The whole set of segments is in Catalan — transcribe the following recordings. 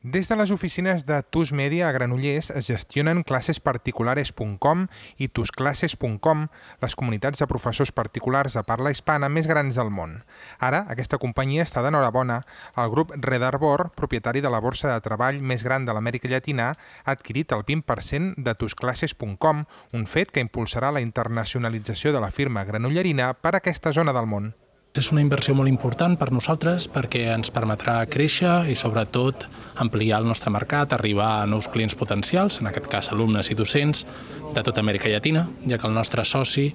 Des de les oficines de TUS Media a Granollers es gestionen clasesparticulares.com i tusclasses.com, les comunitats de professors particulars de parla hispana més grans del món. Ara, aquesta companyia està d'enhorabona. El grup Red Arbor, propietari de la borsa de treball més gran de l'Amèrica Llatina, ha adquirit el 20% de tusclasses.com, un fet que impulsarà la internacionalització de la firma granollerina per a aquesta zona del món. És una inversió molt important per nosaltres perquè ens permetrà créixer i, sobretot, ampliar el nostre mercat, arribar a nous clients potencials, en aquest cas alumnes i docents, de tota Amèrica Llatina, ja que el nostre soci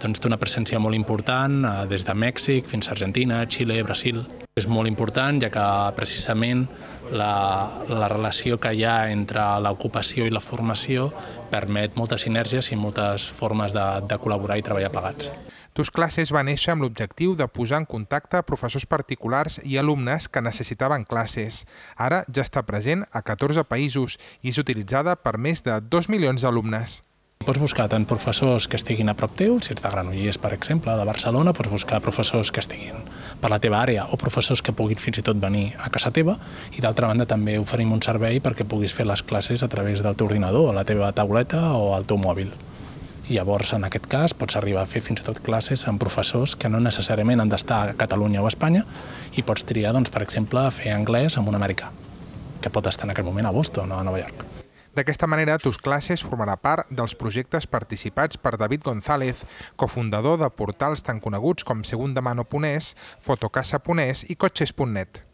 té una presència molt important des de Mèxic fins a Argentina, Xile, Brasil. És molt important ja que precisament la relació que hi ha entre l'ocupació i la formació permet moltes sinergies i moltes formes de col·laborar i treballar plegats. TUSclasses va néixer amb l'objectiu de posar en contacte professors particulars i alumnes que necessitaven classes. Ara ja està present a 14 països i és utilitzada per més de 2 milions d'alumnes. Pots buscar tant professors que estiguin a prop teu, si ets de Granollers, per exemple, de Barcelona, pots buscar professors que estiguin per la teva àrea o professors que puguin fins i tot venir a casa teva, i d'altra banda també oferim un servei perquè puguis fer les classes a través del teu ordinador, a la teva tauleta o al teu mòbil. I llavors, en aquest cas, pots arribar a fer fins i tot classes amb professors que no necessàriament han d'estar a Catalunya o a Espanya, i pots triar, per exemple, fer anglès amb un americà, que pot estar en aquest moment a Boston o a Nova York. D'aquesta manera, TUSclasses formarà part dels projectes participats per David González, cofundador de portals tan coneguts com segundamano.es, fotocasa.es i cotxes.net.